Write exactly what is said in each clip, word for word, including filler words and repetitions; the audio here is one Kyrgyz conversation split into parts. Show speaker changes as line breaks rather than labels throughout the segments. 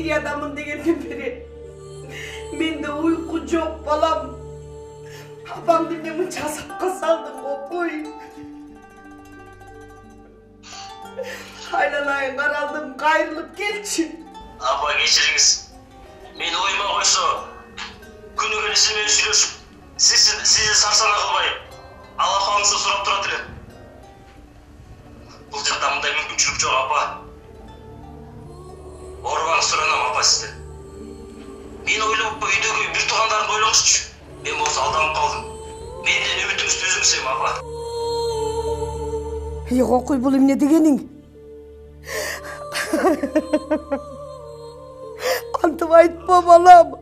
Сириядамын дегенден бери менде уйку жок балам. Апамды эмне мынча азапка салдың кой. Айланайын каралдым, кайрылып келчи.
Апа кечириңиз. Мени ойма койсо, күнү күнү сиз менен сүйлөшүп, сиз сизди сарсана кылбай, ал апаңызды сурап турат элем. Бул жакта мындай мүмкүнчүлүк жок, апа. Оорубаңыз суранам, апа, сизден. Мен ойлоп, үйдөгү бир туугандарымды ойлоңузчу. Мен болсо алданып калдым. Менден үмүтүңүздү үзүңүз, апа.
Эй, кокуй, бул эмне дегениң? Антып айтпа, балам.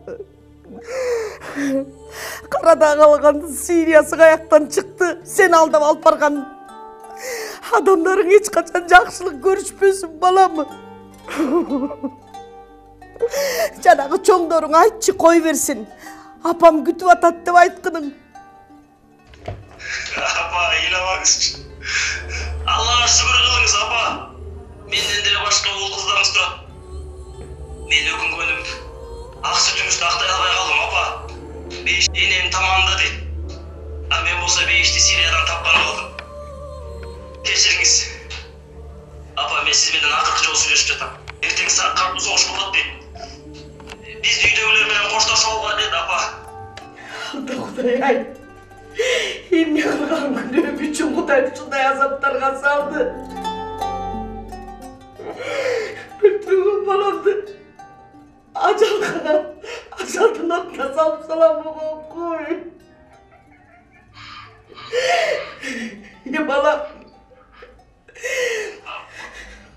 Карада калган Сириясы каяктан чыкты? Сен алдап алып барган адамдарың эч качан жакшылык көрүшпөсүн, балам. Жанагы чоңдоруң айтчы, кой берсин. Апам күтүп атат деп айткының.
Апа, ыйламаңызчы. Аллага шүгүр кылыңыз, апа. Менден деле башка уул кыздарыңыз турат. Мен өкүнгөнүм, ак сүтүңүздү актай албай калдым, апа. Бейиш энем тамамдады. А мен болсо бейишти Сириядан тапкан калдым. Кечириңиз. Апа, мен сиз менен акыркы жолу сүйлөшүп жатам. Эртең картуу согуш болот дейт. Биз үйдөгүлөр менен коштошуп алган дейт, апа.
Кудай ай. Эмне кылган күнөөм үчүн Кудай ушундай азаптарга салды? Бүтүн баламды ажалга, ажалдын отуна салып салам кой. Е, балам.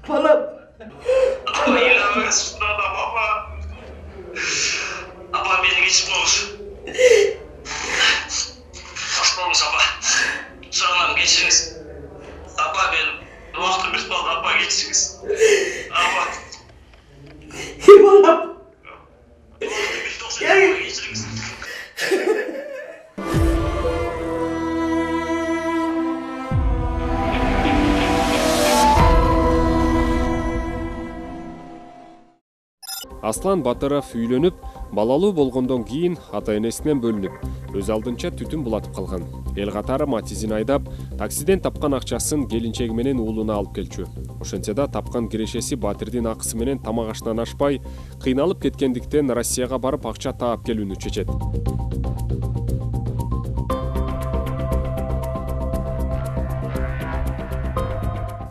Балам.
Апа, ыйламаңыз, шунадам, апа. Апа, мени кечирип коюңуз. Кош болуңуз, апа. Суранам, кечириңиз. Апа, мен убактым бүтүп калды, апа, кечириңиз. Апа.
Е, балам.
Кечириңиз.
Аслан Батыров үйлөнүп, балалуу болгондон кийин ата-энесинен бөлүнүп, өз алдынча түтүн булатып калган. Эл катары Матизин айдап, таксиден тапкан акчасын келинчеги менен уулуна алып келчү. Ошентсе да тапкан кирешеси Батирдин акысы менен тамак аштан ашпай, кыйналып кеткендиктен Россияга барып акча таап келүүнү чечет.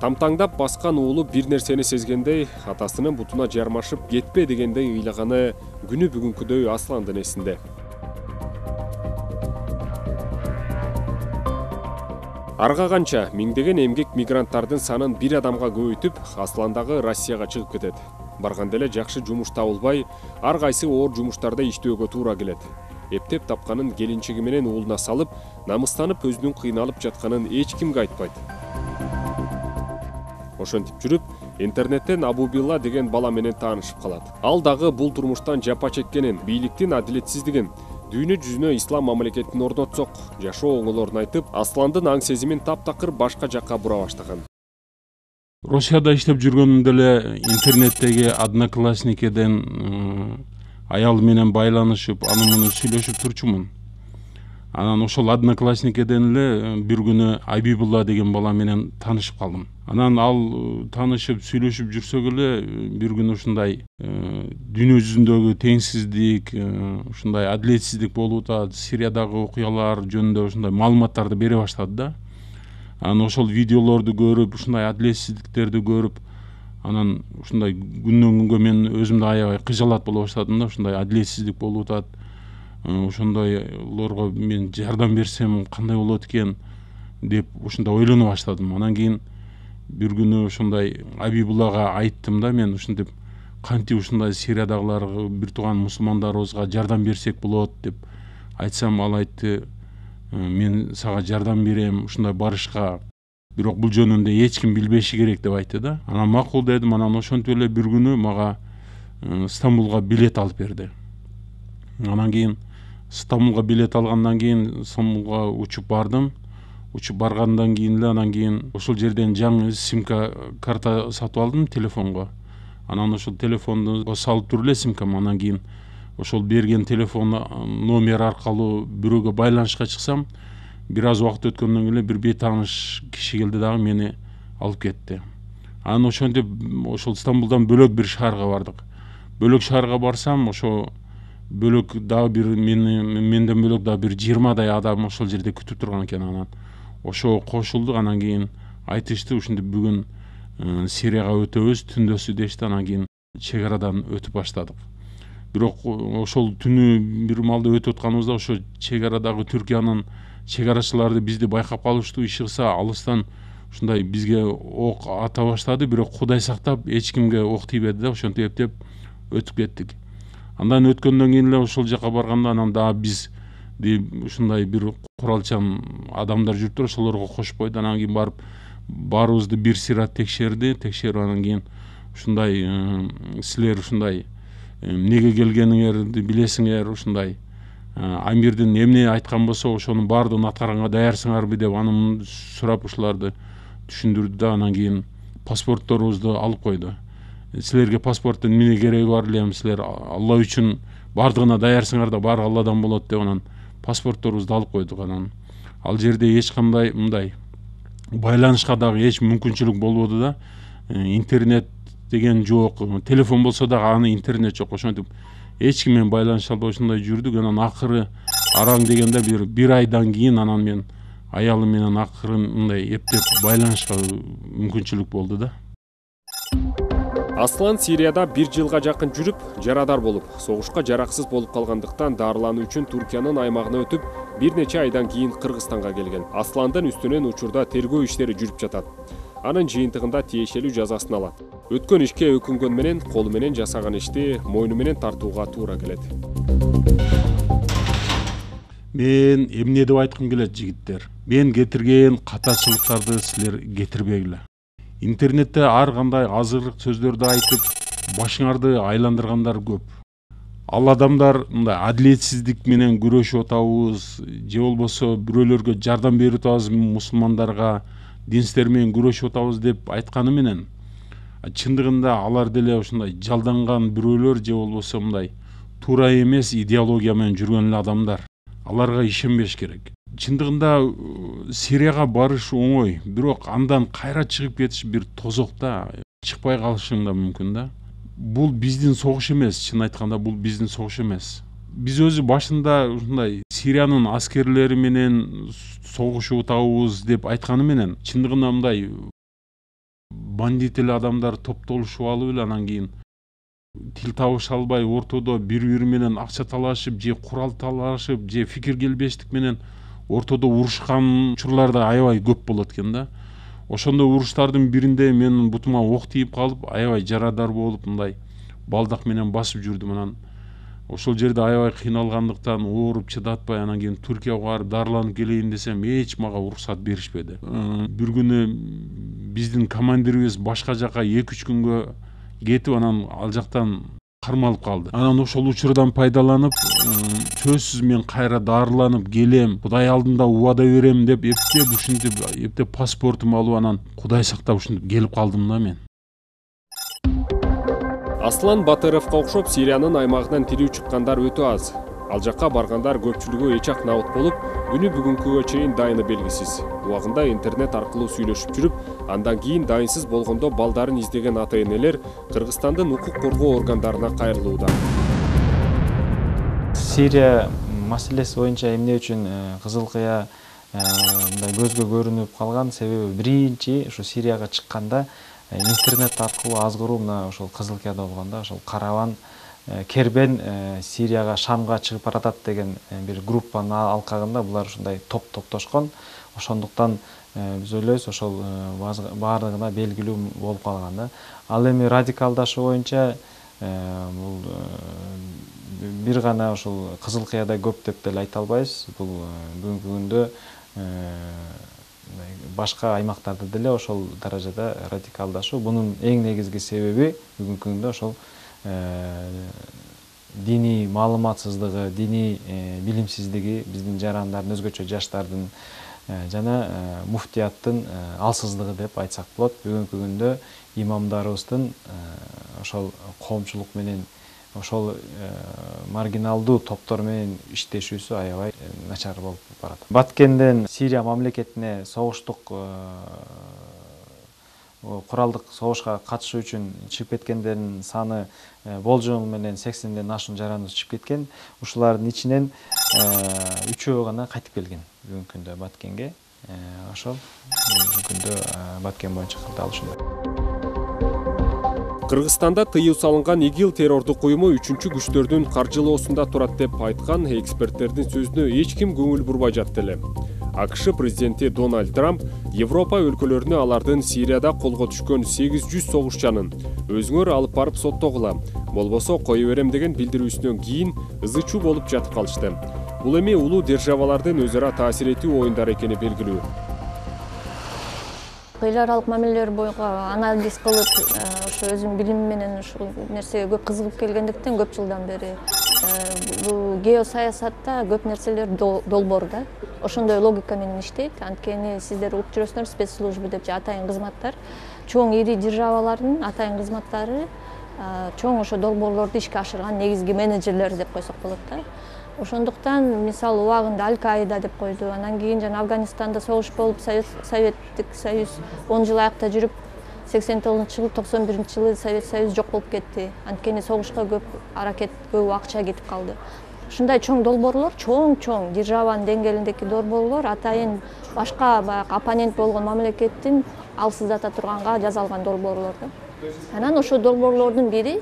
Тамтаңдап баскан уулу бир нерсени сезгендей, атасынын бутуна жармашып кетпе дегендей ыйлаганы күнү бүгүнкүдөй Асландын эсинде. Арга канча миңдеген эмгек мигранттардын санын бир адамга көбөйтүп, Аслан дагы Россияга чыгып кетет. Барганда эле жакшы жумуш табылбай, ар кайсы оор жумуштарда иштөөгө туура келет. Эптеп тапканын келинчеги менен уулуна салып, намыстанып өзүнүн кыйналып жатканын эч кимге айтпайт. Ошентип жүрүп, интернеттен Абубилла деген бала менен таанышып калат. Ал дагы бул турмуштан жапа чеккенин, бийликтин адилетсиздигин, дүйнө жүзүнө ислам мамлекетин орнотсок, жашоо оңолорун айтып, Асландын аң сезимин таптакыр башка жакка бура баштаган.
Россияда иштеп жүргөнүмдө эле интернеттеги Одноклассникеден аял менен байланышып, аны муну сүйлөшүп турчумун. Анан ошол Одноклассникеден эле бир күнү Абибулла деген бала менен таанышып калдым. Анан ал таанышып сүйлөшүп жүрсөк эле бир күнү ушундай дүйнө жүзүндөгү теңсиздик, ушундай адилетсиздик болуп атат, Сириядагы окуялар жөнүндө ушундай маалыматтарды бере баштады да. Анан ошол видеолорду көрүп, ушундай адилетсиздиктерди көрүп, анан ушундай күндөн күнгө мен өзүмдү аябай кыжалат боло баштадым да, ушундай адилетсиздик болуп атат. Ошондойлорго мен жардам берсем кандай болот экен деп ушундай ойлоно баштадым. Анан кийин бир күнү ушундай Абибуллага айттым да, мен ушинтип кантип ушундай Сириядагыларга бир тууган мусулмандарыбызга жардам берсек болот деп айтсам, ал айтты, мен сага жардам берем ушундай барышка, бирок бул жөнүндө эч ким билбеши керек деп айтты да. Анан макул дедим. Анан ошентип эле бир күнү мага Стамбулга билет алып берди. Анан кийин Стамбулга билет алгандан кийин Стамбулга учуп бардым. Учуп баргандан кийин эле анан кийин ошол жерден жаңы симка карта сатып алдым телефонго. Анан ошол телефонду салып туруп эле симкам, анан кийин ошол берген телефон номер аркылуу бирөөгө байланышка чыксам, бир аз убакыт өткөндөн кийин эле бир бейтааныш киши келди дагы мени алып кетти. Анан ошентип ошол Стамбулдан бөлөк бир шаарга бардык. Бөлөк шаарга барсам, ошо бөлөк дагы бир мени менден бөлөк дагы бир жыйырмадай адам ошол жерде күтүп турган экен. Анан ошого кошулдук. Анан кийин айтышты, ушинтип бүгүн Сирияга өтөбүз, түндөсү дешти. Анан кийин чек арадан өтүп баштадык. Бирок ошол түнү бир маалда өтүп атканыбызда ошо чек арадагы Түркиянын чек арачылары бизди байкап калыштуу. Ишыкса алыстан ушундай бизге ок ата баштады, бирок Кудай сактап эч кимге ок тийбеди да, ошентип эптеп өтүп кеттик. Андан өткөндөн кийин эле ошол жака барганда анан дагы биз ушундай бир куралчан адамдар жүрүптүр, ошолорго кошуп койду. Анан кийин барып баарыбызды бир сыйра текшерди. Текшерип анан кийин ушундай силер ушундай эмнеге келгениңерди билесиңер, ушундай амирдин эмне айткан болсо ошонун баардыгын аткарганга даярсыңарбы деп анын сурап ушуларды түшүндүрдү да, анан кийин паспортторубузду алып койду. Силерге паспорттун эмне кереги бар элем, силер Алла үчүн баардыгына даярсыңар да, баары Алладан болот деп анан паспортторубузду алып койдук. Анан ал жерде эч кандай мындай байланышка дагы эч мүмкүнчүлүк болбоду да. Интернет деген жок, телефон болсо дагы аны интернет жок. Ошентип эч ким менен байланыша албай ушундай жүрдүк. Анан акыры араң дегенде бир бир айдан кийин анан мен аялым менен акырын мындай эптеп байланышка мүмкүнчүлүк болду да.
Аслан Сирияда бир жылга жакын жүрүп, жарадар болуп, согушка жараксыз болуп калгандыктан дарылануу үчүн Түркиянын аймагына өтүп, бир нече айдан кийин Кыргызстанга келген. Асландын үстүнөн учурда тергөө иштери жүрүп жатат. Анын жыйынтыгында тиешелүү жазасын алат. Өткөн ишке өкүнгөн менен колу менен жасаган ишти мойну менен тартууга туура келет.
Мен эмне деп айткым келет жигиттер? Мен кетирген катачылыктарды силер кетирбегиле. Интернетте ар кандай азырык сөздөрдү айтып, башыңарды айландыргандар көп. Ал адамдар мындай адилетсиздик менен күрөшүп атабыз, же болбосо бирөөлөргө жардам берип атабыз, мусулмандарга динстер менен күрөшүп атабыз деп айтканы менен, чындыгында алар деле ушундай жалданган бирөөлөр же болбосо мындай туура эмес идеология менен жүргөн эле адамдар. Аларга ишенбеш керек. Чындыгында Сирияга барыш оңой, бирок андан кайра чыгып кетиш бир тозок да, чыкпай калышың да мүмкүн да. Бул биздин согуш эмес, чын айтканда бул биздин согуш эмес. Биз өзү башында ушундай Сириянын аскерлери менен согушуп атабыз деп айтканы менен, чындыгында мындай бандит эле адамдар топтолушуп алып эле анан кийин тил табыша албай ортодо бири-бири менен акча талашып, же курал талашып, же фикир келбештик менен ортодо урушкан учурлар да аябай көп болот экен да. Ошондой уруштардын биринде менин бутума ок тийип калып, аябай жарадар болуп, мындай балдак менен басып жүрдүм. Анан ошол жерде аябай кыйналгандыктан ооруп чыдатпай анан кийин Түркияга барып дарыланып келейин десем, эч мага уруксат беришпеди. Бир күнү биздин командирибиз башка жака эки үч күнгө кетип, анан ал жактан кармалып калды. Анан ошол учурдан пайдаланып, сөзсүз мен кайра дарыланып келем, Кудай алдында убада берем деп эптеп ушинтип эптеп паспортумду алып, анан Кудай сактап ушинтип келип калдым да мен.
Аслан Батыровго окшоп Сириянын аймагынан тирүү чыккандар өтө аз. Ал жакка баргандар көпчүлүгү эч ак набыт болуп, күнү бүгүнкүгө чейин дайыны белгисиз. Убагында интернет аркылуу сүйлөшүп жүрүп, андан кийин дайынсыз болгондо балдарын издеген ата-энелер Кыргызстандын укук коргоо органдарына кайрылууда.
Сирия маселеси боюнча эмне үчүн Кызыл Кыя мындай көзгө көрүнүп калган себеби, биринчи ушу Сирияга чыкканда интернет аркылуу азгыруу мына ошол Кызыл Кыяда болгондо ошол караван кербен Сирияга, Шамга чыгып баратат деген бир группанын алкагында булар ушундай топ топтошкон. Ошондуктан биз ойлойбуз ошол баардыгына белгилүү болуп калган да. Ал эми радикалдашуу боюнча бул бир гана ошол Кызыл Кыяда көп деп деле айта албайбыз. Бул бүгүнкү күндө башка аймактарда деле ошол даражада радикалдашуу. Бунун эң негизги себеби бүгүнкү күндө ошол диний маалыматсыздыгы, диний билимсиздиги, биздин жарандардын, өзгөчө жаштардын жана муфтияттын алсыздыгы деп айтсак болот. Бүгүнкү күндө имамдарыбыздын ошол коомчулук менен ошол маргиналдуу топтор менен иштешүүсү аябай начар болуп барат. Баткенден Сирия мамлекетине согуштук куралдык согушка катышуу үчүн чыгып кеткендердин саны болжол менен сексенден ашуун жараныбыз чыгып кеткен. Ушулардын ичинен үчөө гана кайтып келген бүгүнкү күндө Баткенге. Ошол бүгүнкү күндө Баткен боюнча кырдаал ушундай.
Кыргызстанда тыюу салынган ИГИЛ террордук уюму үчүнчү күчтөрдүн каржылоосунда турат деп айткан эксперттердин сөзүнө эч ким көңүл бурбай жатты эле. АКШ президенти Дональд Трамп Европа өлкөлөрүнө алардын Сирияда колго түшкөн сегиз жүз согушчанын өзүңөр алып барып соттогула, болбосо кое берем деген билдирүүсүнөн кийин ызы чуу болуп жатып калышты. Бул эми улуу державалардын өзү ара таасир этүү оюндары экени белгилүү.
Эл аралык мамилелер боюнча анализ кылып, ошо өзүм билим менен ушул нерсеге көп кызыгып келгендиктен көп жылдан бери бул геосаясатта көп нерселер долбоор да. Ошондой логика менен иштейт. Анткени сиздер угуп жүрөсүңөр, спецслужба деп атайын кызматтар, чоң ири державалардын атайын кызматтары чоң ошо долбоорлорду ишке ашырган негизги менеджерлер деп койсок болот да. Ошондуктан мисалы убагында Аль-Каида деп койду. Анан кийин жана Афганистанда согуш болуп, Советтик Союз он жыл аякта жүрүп, сексен тогузунчу жылы, токсон биринчи жылы Совет Союз жок болуп кетти. Анткени согушка көп аракет, көп акча кетип калды. Ушундай чоң долбоорлор, чоң-чоң державанын деңгээлиндеги долбоорлор атайын башка баягы оппонент болгон мамлекеттин алсыздата турганга жасалган долбоорлор да. Анан ошо долбоорлордун бири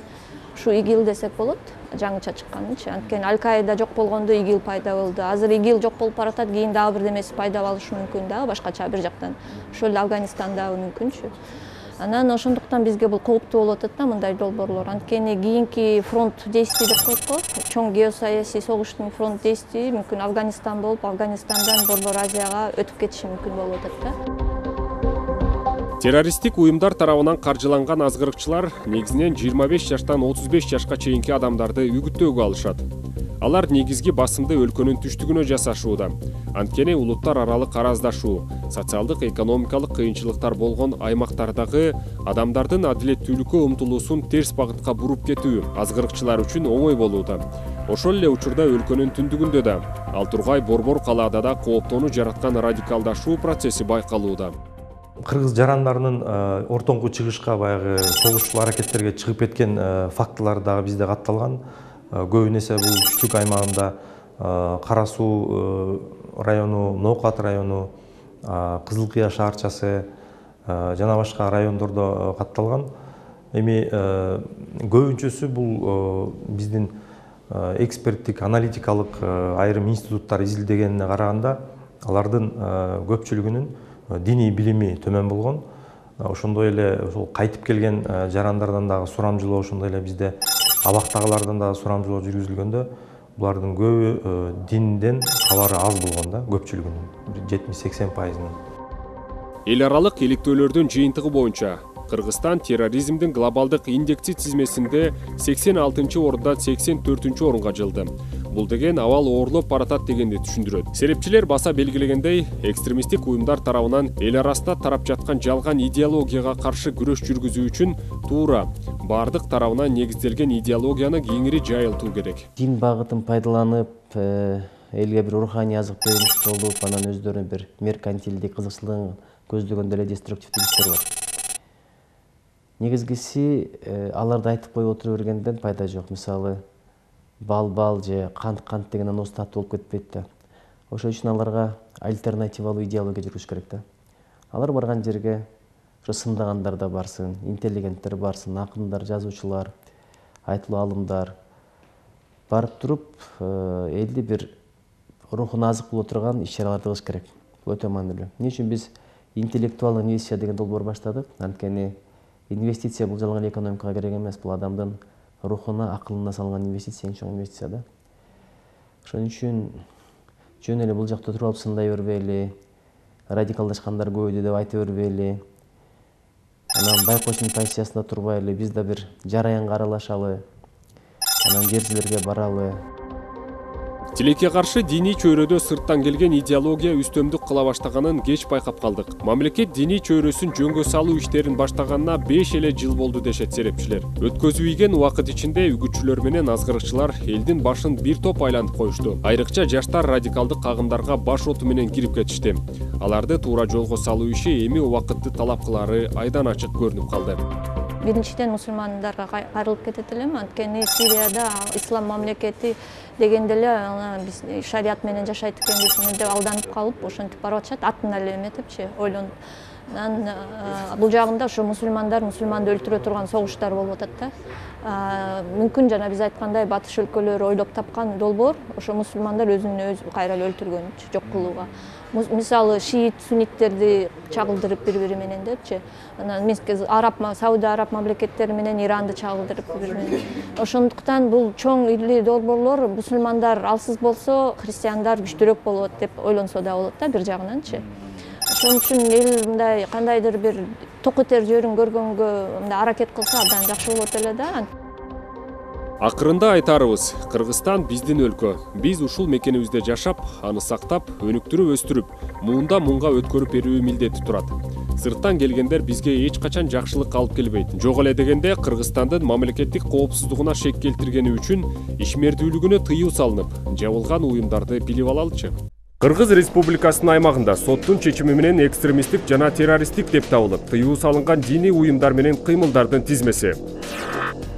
ушу ИГИЛ десек болот, жаңыча чыкканынчы. Анткени Аль-Каида жок болгондо ИГИЛ пайда болду. Азыр ИГИЛ жок болуп баратат, кийин дагы бир демеси пайда болушу мүмкүн да, башкача бир жактан. Ошол эле Афганистандагы мүмкүнчү. Анан ошондуктан бизге бул кооптуу болуп атат да мындай долбоорлор. Анткени кийинки фронт действий деп коет го, чоң геосаясий согуштун фронт действий мүмкүн Афганистан болуп, Афганистандан Борбор Азияга өтүп кетиши мүмкүн болуп атат да.
Террористтик уюмдар тарабынан каржыланган азгырыкчылар негизинен жыйырма беш жаштан отуз беш жашка чейинки адамдарды үгүттөөгө алышат. Алар негизги басымды өлкөнүн түштүгүнө жасашууда. Анткени улуттар аралык араздашуу, социалдык экономикалык кыйынчылыктар болгон аймактардагы адамдардын адилеттүүлүккө умтулуусун терс багытка буруп кетүү азгырыкчылар үчүн оңой болууда. Ошол эле учурда өлкөнүн түндүгүндө да, ал тургай Борбор калаада да кооптоону жараткан радикалдашуу процесси байкалууда.
Кыргыз жарандарынын ортоңку чыгышка баягы согушчул аракеттерге чыгып кеткен фактылар дагы бизде катталган. Көбүн эсе бул түштүк аймагында Кара Суу району, Ноокат району, Кызыл Кыя шаарчасы жана башка райондордо катталган. Эми көбүнчөсү бул биздин эксперттик, аналитикалык айрым институттар изилдегенине караганда, алардын көпчүлүгүнүн диний билими төмөн болгон. Ошондой эле ошол кайтып келген жарандардан дагы сурамжылоо, ошондой эле бизде абактагылардан дагы сурамжылоо жүргүзүлгөндө, булардын көбү динден кабары аз болгон да, көпчүлүгүнүн жетимиш сексен пайызынын.
Эл аралык иликтөөлөрдүн жыйынтыгы боюнча Кыргызстан терроризмдин глобалдык индекси тизмесинде сексен алтынчы орундан сексен төртүнчү орунга жылды. Бул деген абал оорлоп баратат дегенди түшүндүрөт. Серепчилер баса белгилегендей, экстремисттик уюмдар тарабынан эл арасында тарап жаткан жалган идеологияга каршы күрөш жүргүзүү үчүн туура бардык тарабынан негизделген идеологияны кеңири жайылтуу керек.
Дин багытын пайдаланып, элге бир руханий азык бериш болуп, анан өздөрүнүн бир меркантилдик кызыкчылыгын көздөгөн деле деструктивдүү иштер бар. Негизгиси аларды айтып коюп отура бергенден пайда жок. Мисалы, бал-бал же кант-кант деген анос татуу болуп кетпейт да. Ошол үчүн аларга альтернативалуу идеология жүргүзүш керек да. Алар барган жерге ошо сындагандар да барсын, интеллигенттер барсын, акындар, жазуучулар, айтылуу алымдар барып туруп, элди бир рухуна азык боло турган иш-чараларды кылыш керек. Бул өтө маанилүү. Эмне үчүн биз интеллектуалдык инвестиция деген долбоор баштадык? Анткени инвестиция бул жалган экономикага керек эмес, бул адамдын рухуна, акылына салган инвестиция, эң чоң инвестиция да. Ошон үчүн жөн эле бул жакта туруп алып сындай бербейли, радикалдашкандар көбөйдү деп айта бербейли. Анан байкоочунун позициясында турбайлы, биз да бир жараянга аралашалы, анан жер жерлерге баралы.
Тилекке каршы диний чөйрөдө сырттан келген идеология үстөмдүк кыла баштаганын кеч байкап калдык. Мамлекет диний чөйрөсүн жөнгө салуу иштерин баштаганына беш эле жыл болду дешет серепчилер. Өткөзүп ийген убакыт ичинде үгүтчүлөр менен азгырыкчылар элдин башын бир топ айлантып коюшту. Айрыкча жаштар радикалдык кагымдарга баш оту менен кирип кетишти. Аларды туура жолго салуу иши эми убакытты талап кылары айдан ачык көрүнүп калды.
Биринчиден мусулмандарга кайрылып кетет элем, анткени Сирияда ислам мамлекети дегенде эле биз шарият менен жашайт экенбиз деп алданып калып, ошентип барып атышат, атын эле эметипчи, ойлонуп. Анан бул жагында ошо мусулмандар мусулманды өлтүрө турган согуштар болуп атат да. Мүмкүн жана биз айткандай батыш өлкөлөрү ойлоп тапкан долбоор ошо мусулмандар өзүн өзү кайра эле өлтүргөнчү, жок кылууга. Мисалы шиит, сунниттерди чагылдырып бири-бири менен депчи. Анан араб, Сауд араб мамлекеттери менен Иранды чагылдырып бири-бири менен. Ошондуктан бул чоң ирлүү долбоорлор мусулмандар алсыз болсо, христиандар күчтүүрөөк болот деп ойлонсо да болот да бир жагынанчы. Ошон үчүн эл мындай кандайдыр бир ток этер жөрүн көргөнгө мындай аракет кылса абдан жакшы болот эле да.
Акырында айтарыбыз, Кыргызстан биздин өлкө. Биз ушул мекенибизде жашап, аны сактап, өнүктүрүп өстүрүп, муунда мунга өткөрүп берүү милдети турат. Сырттан келгендер бизге эч качан жакшылык алып келбейт. Жок эле дегенде Кыргызстандын мамлекеттик коопсуздугуна шек келтиргени үчүн ишмердүүлүгүнө тыюу салынып, жабылган уюмдарды билип алалычы. Кыргыз Республикасынын аймагында соттун чечими менен экстремисттик жана террористтик деп табылып, тыюу салынган диний уюмдар менен кыймылдардын тизмеси.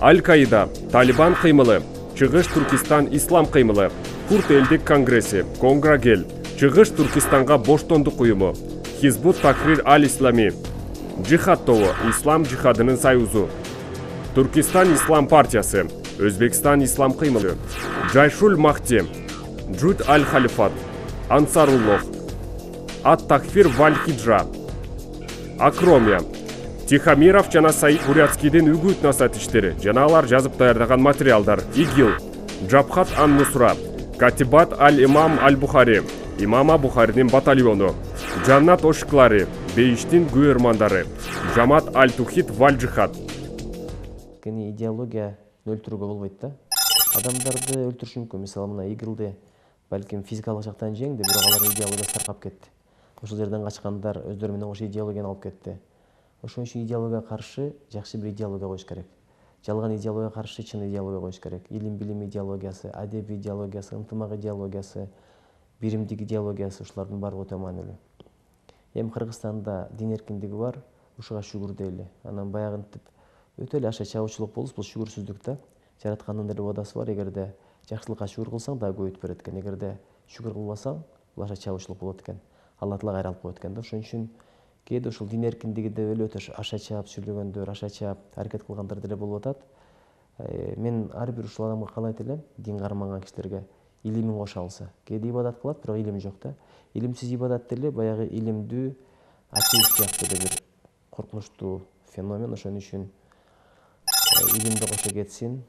Аль-Каида, Талибан кыймылы, Чыгыш Туркистан ислам кыймылы, Курд элдик конгресси, Конграгел, Чыгыш Туркистанга боштондук уюму, Хизбут Такрир Аль-Ислами, Джихад тобу, Ислам жихадынын союзу, Туркистан ислам партиясы, Өзбекстан ислам кыймылы, Жайшуль Махти, Джуд Аль-Халифат, Ансаруллох, Ат-Такфир Валь-Хиджа, Акромия, Тихомиров жана Саид Бурятскийдин үгүт насаат иштери жана алар жазып даярдаган материалдар, ИГИЛ, Джабхат ан-Нусра, Катибат Аль-Имам Аль-Бухари, Имама Бухаринин батальону, Жаннат ошуклары, Бейиштин күйөрмандары, Жамат Аль-Тухид Валь-Джихад.
Кени идеология өлтүрүүгө болбойт да. Адамдарды өлтүрүш мүмкүн. Мисалы мына ИГИЛди балким физикалык жактан жеңди, бирок алар идеологиясы таркап кетти. Ошол жерден качкандар өздөрү менен ошо идеологияны алып кетти. Ошон үчүн идеологияга каршы жакшы бир идеология коюш керек. Жалган идеологияга каршы чын идеология коюш керек. Илим билим идеологиясы, адеп идеологиясы, ынтымак идеологиясы, биримдик идеологиясы ушулардын баары өтө маанилүү. Эми Кыргызстанда дин эркиндиги бар, ушуга шүгүр дейли. Анан баягынтип өтө эле аша чабуучулук болуп, бул шүгүрсүздүк да. Жараткандын эле бодасы бар, эгерде жакшылыкка шүгүр кылсаң дагы көбөйтүп берет экен. Эгерде шүгүр кылбасаң, бул аша чабуучулук болот экен. Алла Таала кайра алып коет экен да. Ошон үчүн кээде ушул дин эркиндиги деп эле өтө аша чаап сүйлөгөндөр, аша чаап аракет кылгандар деле болуп атат. Мен ар бир ушул адамга каалайт элем, дин карманган кишилерге илимин кошо алса. Кээде ибадат кылат, бирок илим жок да. Илимсиз ибадат деле баягы илимдүү атеист сыяктуу эле бир коркунучтуу феномен. Ошон үчүн илимди кошо кетсин.